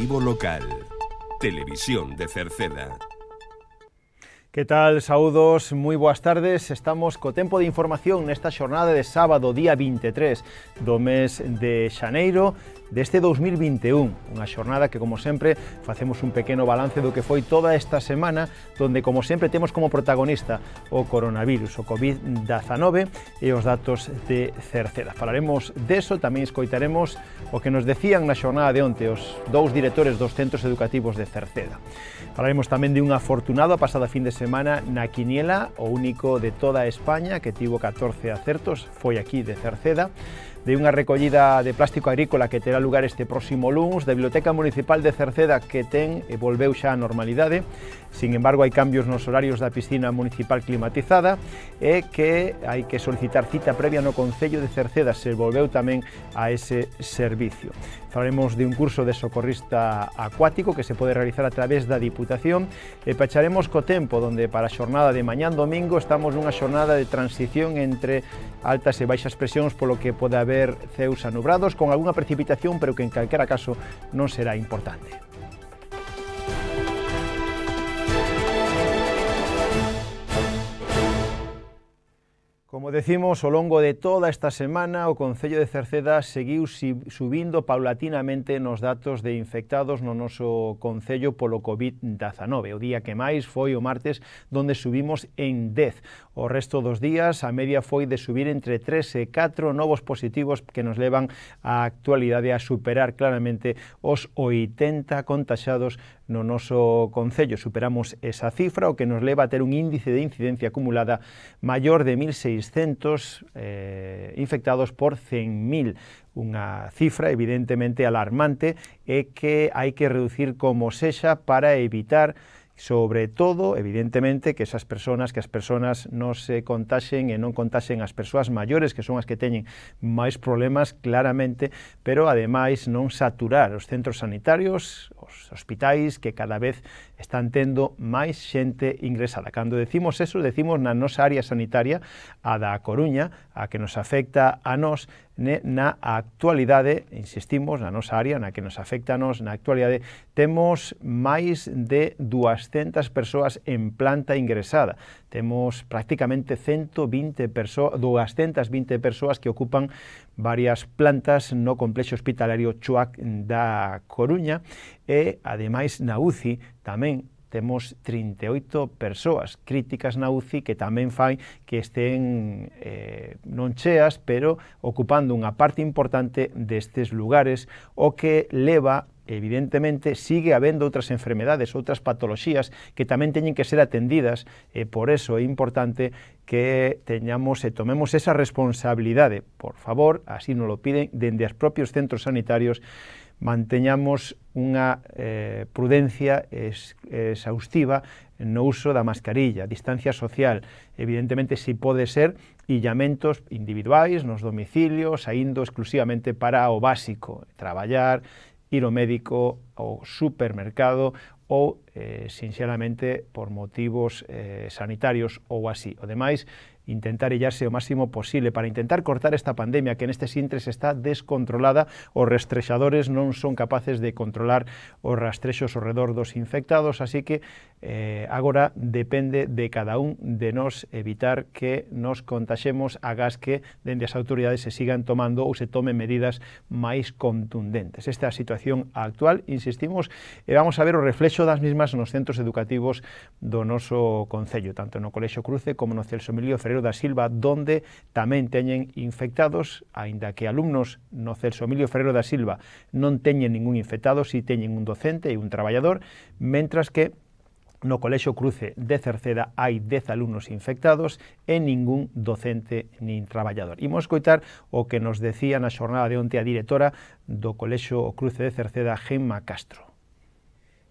Informativo local. Televisión de Cerceda. Que tal, saúdos, moi boas tardes. Estamos co tempo de información nesta xornada de sábado, día 23 do mes de xaneiro deste 2021, unha xornada que, como sempre, facemos un pequeno balance do que foi toda esta semana, donde, como sempre, temos como protagonista o coronavirus, o COVID-19 e os datos de Cerceda. Falaremos deso, tamén escoitaremos o que nos decían na xornada de onte os dous directores dos centros educativos de Cerceda. Falaremos tamén de un afortunado a pasada fin de semana na quiniela, o único de toda España, que tivo 14 acertos, foi aquí de Cerceda, de unha recollida de plástico agrícola que terá lugar este próximo luns, da Biblioteca Municipal de Cerceda que ten e volveu xa a normalidade. Sin embargo, hai cambios nos horarios da piscina municipal climatizada e que hai que solicitar cita previa no Concello de Cerceda, se volveu tamén a ese servicio. Falaremos de un curso de socorrista acuático que se pode realizar a través da Diputación e pecharemos co tempo, donde para a xornada de mañán domingo estamos nunha xornada de transición entre altas e baixas presións, polo que pode haber ceus anubrados con algunha precipitación, pero que en calquera caso non será importante. Como decimos, ao longo de toda esta semana, o Concello de Cerceda seguiu subindo paulatinamente nos datos de infectados no noso Concello polo COVID-19. O día que máis foi o martes, donde subimos en 10. O resto dos días, a media foi de subir entre 3 e 4 novos positivos que nos levan á actualidade a superar claramente os 80 contaxados no noso Concello. Superamos esa cifra, o que nos leva a ter un índice de incidencia acumulada maior de 1.600 infectados por 100.000. Unha cifra evidentemente alarmante e que hai que reducir como sexa para evitar, sobre todo, evidentemente, que as persoas non se contaxen e non contaxen as persoas maiores, que son as que teñen máis problemas, claramente, pero, ademais, non saturar os centros sanitarios, os hospitais, que cada vez están tendo máis xente ingresada. Cando decimos eso, decimos na nosa área sanitaria, a da Coruña, a que nos afecta a nós, na actualidade, insistimos, na nosa área, na que nos afecta a nós, na actualidade, temos máis de 200 persoas en planta ingresada. Temos prácticamente 220 persoas que ocupan varias plantas no complexo hospitalario Chuac da Coruña e, ademais, na UCI tamén temos 38 persoas críticas na UCI que tamén fai que estén non cheas, pero ocupando unha parte importante destes lugares, o que leva, evidentemente, sigue habendo outras enfermedades, outras patoloxías que tamén teñen que ser atendidas, e por eso é importante que teñamos e tomemos esa responsabilidade. Por favor, así nos lo piden dende os propios centros sanitarios, manteñamos unha prudencia exhaustiva no uso da mascarilla, distancia social, evidentemente, si pode ser, illamentos individuais nos domicilios, saindo exclusivamente para o básico, traballar, ir ao médico, ao supermercado ou, sinxelamente, por motivos sanitarios ou así. O demais, intentar illarse o máximo posible para intentar cortar esta pandemia que nestes intres está descontrolada. Os rastrexadores non son capaces de controlar os rastrexos ao redor dos infectados, así que agora depende de cada un de nós evitar que nos contaxemos, agás que dende as autoridades se sigan tomando ou se tomen medidas máis contundentes. Esta é a situación actual, insistimos, e vamos a ver o reflexo das mismas nos centros educativos do noso Concello, tanto no Colexio Cruce como no Celso Emilio Ferreiro da Silva, donde tamén teñen infectados, aínda que alumnos no Celso Emilio Ferreiro da Silva non teñen ningún infectado, si teñen un docente e un traballador, mentras que no Colexio Cruce de Cerceda hai 10 alumnos infectados e ningún docente nin traballador. Imos escoitar o que nos decía na xornada de onte a directora do Colexio Cruce de Cerceda, Gemma Castro.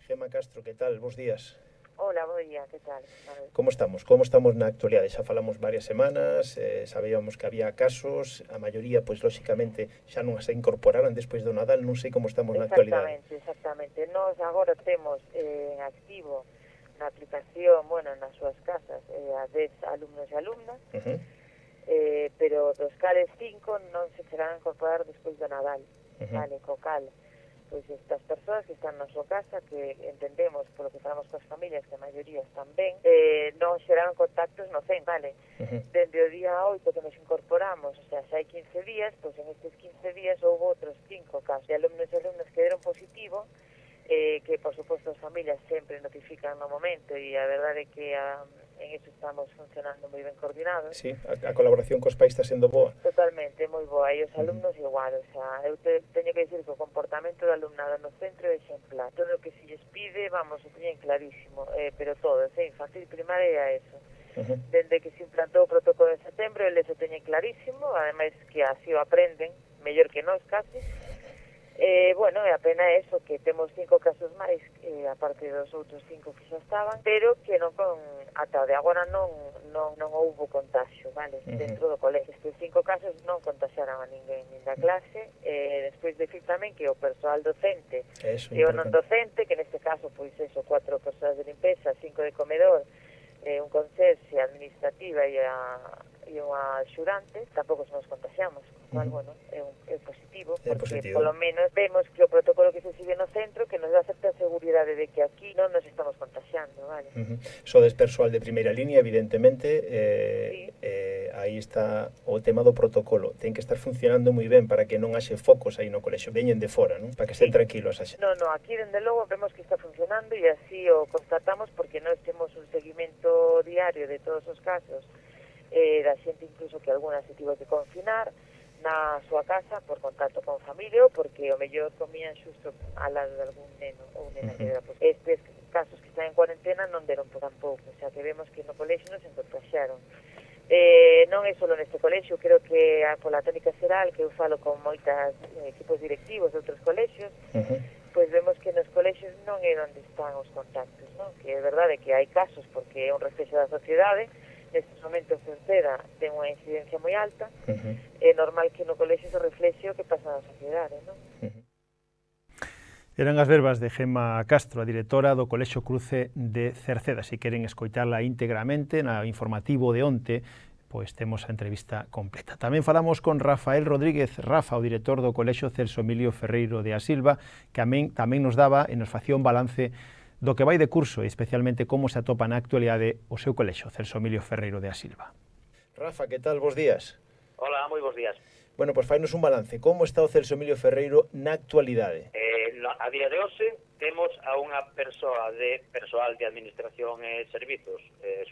Gemma Castro, que tal? Bos días. Hola, bo día, que tal? Como estamos? Como estamos na actualidade? Xa falamos varias semanas, sabíamos que había casos, a maioría, pois, lóxicamente, xa non se incorporaran despois do Nadal, non sei como estamos na actualidade. Exactamente. Nós agora temos en activo na aplicación, bueno, nas súas casas, a 10 alumnos e alumnas, pero dos cales 5 non se chegarán a incorporar despois do Nadal, vale, co cal. pois estas persoas que están na súa casa, que entendemos polo que falamos coas familias que a maioría están ben, non xeraron contactos no centro, vale? Dende o día 8 que nos incorporamos, o sea, xa hai 15 días, pois en estes 15 días houve outros 5 casos de alumnos e alumnas que deron positivo, que por suposto as familias sempre notifican no momento, e a verdade é que en iso estamos funcionando moi ben coordinados. Sí, a colaboración cos pais está sendo boa. Totalmente, moi boa, e os alumnos igual, o sea, eu teño que dicir que o comportamento do alumnado no centro é exemplar. Todo o que se lles pide, vamos, o teñen clarísimo, pero todos, infantil, primaria e eso. Dende que se implantou o protocolo de setembro, eles o teñen clarísimo, ademais que así o aprenden, mellor que nós casi. Bueno, a pena é eso, que temos 5 casos máis, aparte dos outros 5 que xa estaban, pero que non ata de agora non houbo contagio, vale? Dentro do colegio. Estes 5 casos non contagiaran a ninguén, nin da clase, despois decir tamén que o persoal docente e o non docente, que neste caso, pois eso, 4 persoas de limpeza, 5 de comedor, un conserxe, administrativa e unha axudante, tampouco nos contagiamos, cual, bueno, é positivo, porque polo menos vemos que o protocolo que se sigue no centro que nos dá certa seguridade de que aquí non nos estamos contagiando, vale? Sodes persoal de primeira línea, evidentemente, sí. Aí está o tema do protocolo, ten que estar funcionando moi ben para que non haxe focos aí no colexio, veñen de fora, non? Para que estén tranquilos a xente. No, aquí dende logo vemos que está funcionando e así o constatamos porque nós temos un seguimento diario de todos os casos, da xente incluso que alguna se tivo que confinar na súa casa por contacto con familia ou porque o mellor comían xusto ao lado de algún neno ou nena que era posible. Estes casos que están en cuarentena non deron por tampouco, o sea que vemos que no colexio non se contagiaron. Non é só neste colexio, creo que pola tónica xeral, que eu falo con moitas equipos directivos de outros colexios, pois vemos que nos colexios non é onde están os contactos, non? Que é verdade que hai casos porque é un reflexo da sociedade. Nestes momentos Cerceda ten unha incidencia moi alta, é normal que no colexio se reflexe o que pasa na sociedade, non? Eran as verbas de Gemma Castro, a directora do Colexio Cruce de Cerceda. Se queren escoitala íntegramente na informativo de onte, pois temos a entrevista completa. Tamén falamos con Rafael Rodríguez Rafa, o director do Colexio Celso Emilio Ferreiro de Asilva, que tamén nos daba e nos facía un balance do que vai de curso e especialmente como se atopa na actualidade o seu colexio, Celso Emilio Ferreiro de Asilva. Rafa, que tal? Bos días. Hola, moi bos días. Bueno, pois fainos un balance. Como está o Celso Emilio Ferreiro na actualidade? A día de hoxe temos a unha persoa de persoal de administración e servizos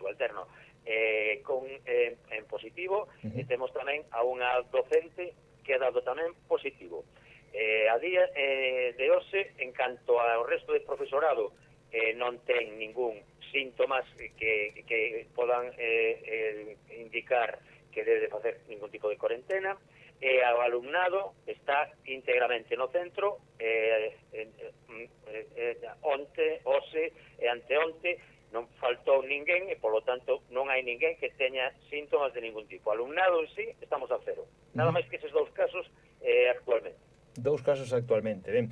subalterno en positivo, e temos tamén a unha docente que ha dado tamén positivo. A día de hoxe, en canto ao resto de profesorado, non ten ningún síntomas que podan indicar que debe facer ningún tipo de cuarentena, e ao alumnado está íntegramente no centro, onte, hoxe e anteonte non faltou ninguén e, polo tanto, non hai ninguén que teña síntomas de ningún tipo. O alumnado en sí estamos a cero. Nada máis que eses 2 casos actualmente. 2 casos actualmente. Ben,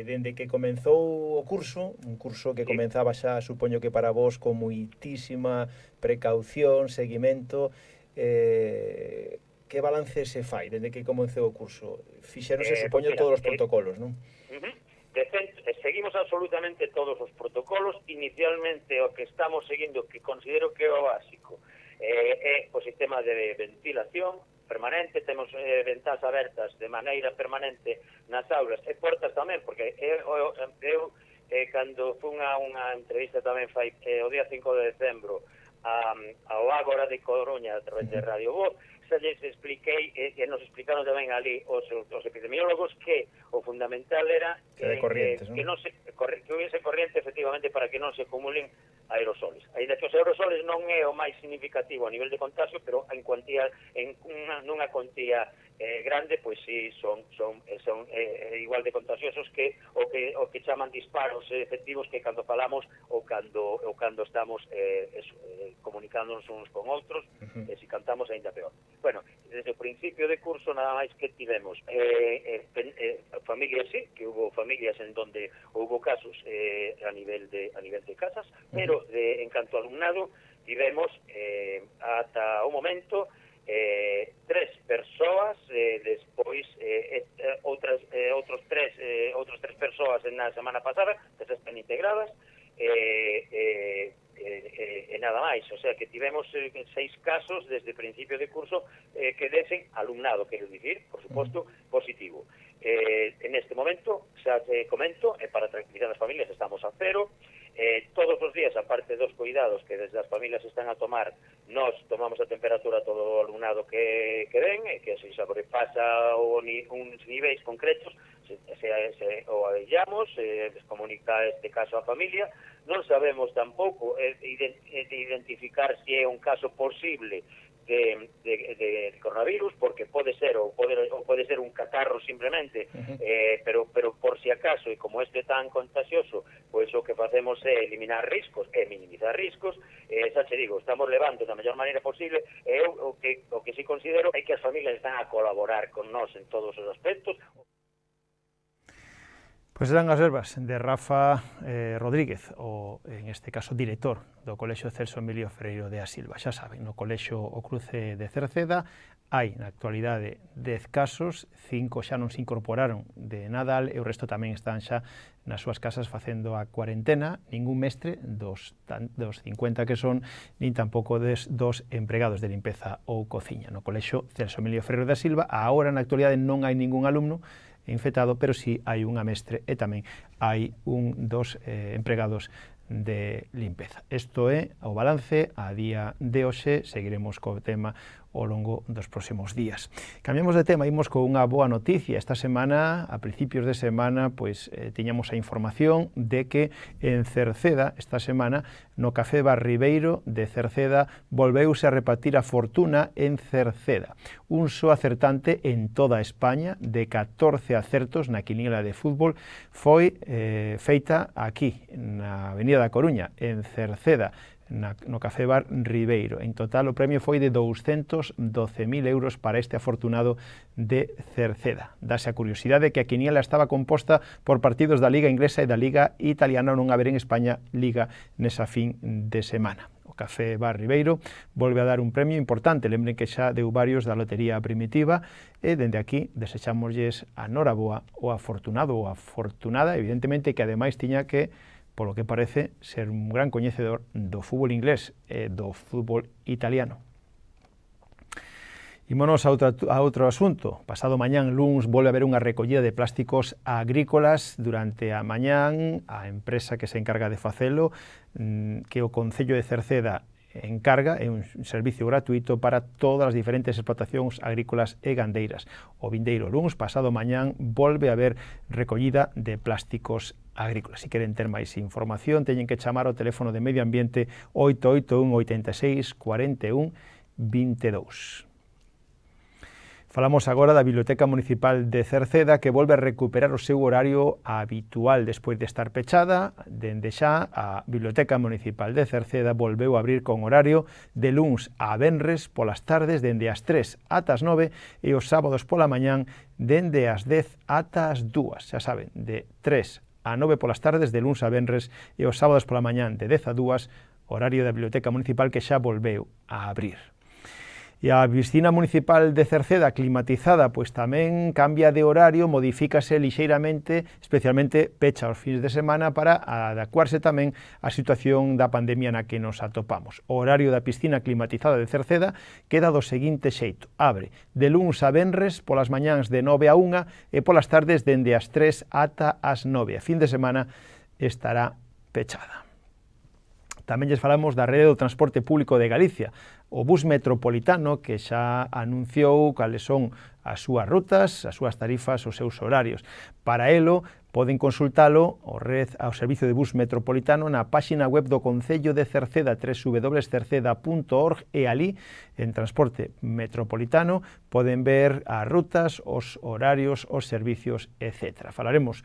dende que comenzou o curso, un curso que comenzaba xa, supoño que para vos, con moitísima precaución, seguimento, que balance se fai dende que comenzou o curso? Fixéronse, supoño, todos os protocolos, non? Seguimos absolutamente todos os protocolos. Inicialmente o que estamos seguindo, que considero que é o básico, é o sistema de ventilación permanente. Temos ventás abertas de maneira permanente nas aulas e portas tamén, porque eu cando fun a unha entrevista tamén fai o día 5 de decembro ao Ágora de Coruña a través de Radio Voz, xa lles expliquei e nos explicaron tamén ali os epidemiólogos que o fundamental era que hubiese corriente efectivamente para que non se acumulen aerosoles. Ainda que os aerosoles non é o máis significativo a nivel de contagio, pero en cuantía, nunha cuantía grande, pois sí, son igual de contagiosos que o que chaman disparos efectivos, que cando falamos ou cando estamos comunicándonos uns con outros, e se cantamos aínda peor. Bueno, desde o principio de curso nada máis que tivemos familias, sí, que hubo familias en donde hubo casos a nivel de casas, pero en canto ao alumnado tivemos ata o momento 3 persoas, despois outros tres persoas na semana pasada, que se están integradas, e nada máis, o sea que tivemos 6 casos desde principio de curso que desen alumnado, quero dicir, por suposto, positivo. En este momento, xa te comento, para tranquilizar as familias estamos a cero. Todos os días, aparte dos cuidados que desde as familias están a tomar, nos tomamos a temperatura a todo o alumnado que ven, que se sobrepasa uns niveis concretos, o aillamos, descomunica este caso a familia. Non sabemos tampouco identificar se é un caso posible de coronavirus, porque pode ser ou pode ser un catarro simplemente, pero por si acaso, e como este é tan contagioso, pois o que facemos é eliminar riscos e minimizar riscos. Xa che digo, estamos levando da mellor maneira posible, e o que sí considero é que as familias están a colaborar con nós en todos os aspectos. Pois eran as verbas de Rafa Rodríguez, o, en este caso, director do Colexio Celso Emilio Freiro de a Silva. Xa saben, no Colexio O Cruce de Cerceda hai, na actualidade, 10 casos, 5 xa non se incorporaron de Nadal e o resto tamén están xa nas súas casas facendo a cuarentena. Ningún mestre dos 50 que son, nin tampouco dos empregados de limpeza ou cociña. No Colexio Celso Emilio Freiro de a Silva, agora na actualidade non hai ningún alumno infectado, pero sí hai unha mestre e tamén hai dos empregados de limpeza. Isto é o balance a día de hoxe. Seguiremos co tema ao longo dos próximos días. Cambiamos de tema, imos con unha boa noticia. Esta semana, a principios de semana, pois tiñamos a información de que en Cerceda, esta semana, no Café Bar Ribeiro de Cerceda, volveuse a repartir a fortuna en Cerceda. Un só acertante en toda España, de 14 acertos na quiniela de fútbol, foi feita aquí, na Avenida da Coruña, en Cerceda, no Café Bar Ribeiro. En total o premio foi de 212.000 euros para este afortunado de Cerceda. Dase a curiosidade que a quiniela estaba composta por partidos da Liga Inglesa e da Liga Italiana, non haber en España Liga nesa fin de semana. O Café Bar Ribeiro volve a dar un premio importante. Lembren que xa deu varios da lotería primitiva e dende aquí desechámosles a noraboa o afortunado ou afortunada, evidentemente que ademais tiña que, polo que parece, ser un gran coñecedor do fútbol inglés e do fútbol italiano. Ímonos a outro asunto. Pasado mañán, luns, volve a haber unha recollida de plásticos agrícolas durante a mañán. A empresa que se encarga de facelo, que o Concello de Cerceda encarga, é un servicio gratuito para todas as diferentes explotacións agrícolas e gandeiras. O vindeiro luns, pasado mañán, volve a haber recollida de plásticos agrícolas. Se queren ter máis información, teñen que chamar ao teléfono de Medio Ambiente 881 86 41 22. Falamos agora da Biblioteca Municipal de Cerceda, que volve a recuperar o seu horario habitual despois de estar pechada. Dende xa, a Biblioteca Municipal de Cerceda volveu a abrir con horario de luns a venres polas tardes dende as 3 ata as 9 e os sábados pola mañán dende as 10 ata as 2. Xa saben, de 3 a 9 polas tardes de luns a venres e os sábados pola mañán de 10 a 2, horario da Biblioteca Municipal que xa volveu a abrir. E a piscina municipal de Cerceda, climatizada, pois tamén cambia de horario, modifícase lixeiramente, especialmente pecha os fins de semana para adecuarse tamén á situación da pandemia na que nos atopamos. O horario da piscina climatizada de Cerceda queda do seguinte xeito: abre de luns a venres polas mañáns de 9 a 1 e polas tardes dende as 3 ata as 9. A fin de semana estará pechada. Tamén lles falamos da rede do transporte público de Galicia, o bus metropolitano, que xa anunciou cales son as súas rutas, as súas tarifas, os seus horarios. Para elo, poden consultalo ao servicio de bus metropolitano na páxina web do Concello de Cerceda, www.cerceda.org, e ali, en transporte metropolitano, poden ver as rutas, os horarios, os servicios, etc. Falaremos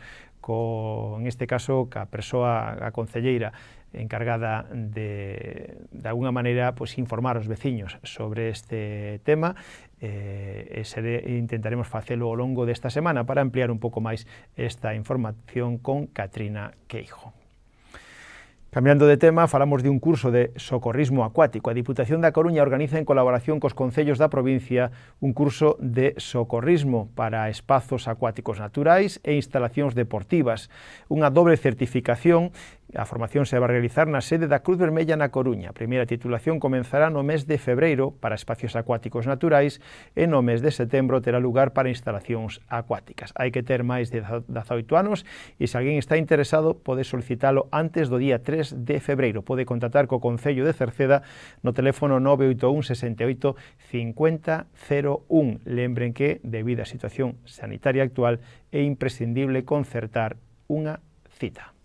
en este caso, ca persoa, a concelleira encargada de alguna maneira, pues, informar aos veciños sobre este tema. Intentaremos facelo ao longo desta semana para ampliar un pouco máis esta información con Catrina Queijo. Cambiando de tema, falamos de un curso de socorrismo acuático. A Diputación da Coruña organiza en colaboración cos concellos da provincia un curso de socorrismo para espazos acuáticos naturais e instalacións deportivas. Unha dobre certificación. A formación se vai realizar na sede da Cruz Vermella na Coruña. A primeira titulación comenzará no mes de febreiro para espacios acuáticos naturais e no mes de setembro terá lugar para instalacións acuáticas. Hai que ter máis de 18 anos e se alguén está interesado pode solicitalo antes do día 3 de febreiro. Pode contactar co Concello de Cerceda no teléfono 981 68 50 01. Lembren que, debido á situación sanitaria actual, é imprescindible concertar unha cita.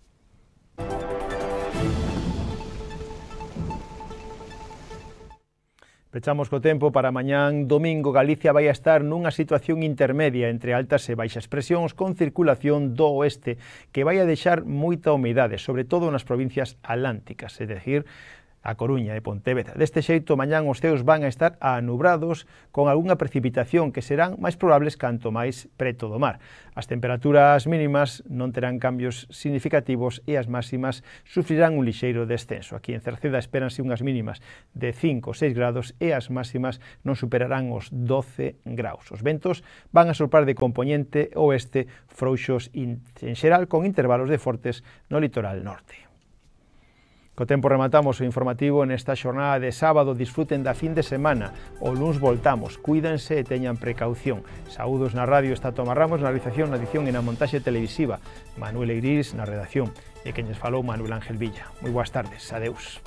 Pechamos co tempo para mañán domingo. Galicia vai a estar nunha situación intermedia entre altas e baixas presións con circulación do oeste que vai a deixar moita humidade, sobre todo nas provincias atlánticas, é dicir, a Coruña e Pontevedra. Deste xeito, mañán os ceos van a estar anubrados con algunha precipitación que serán máis probables canto máis preto do mar. As temperaturas mínimas non terán cambios significativos e as máximas sufrirán un lixeiro descenso. Aquí en Cerceda espéranse unhas mínimas de 5 ou 6 grados e as máximas non superarán os 12 graus. Os ventos van a soprar de compoñente oeste frouxos en xeral con intervalos de fortes no litoral norte. Co tempo rematamos o informativo nesta xornada de sábado. Disfruten da fin de semana. O luns voltamos. Cuídense e teñan precaución. Saúdos na radio está Tomás Ramos na realización, na edición e na montaxe televisiva. Manuel Eirís na redacción. E quen lles falou Manuel Ángel Villa. Moi boas tardes. Adeus.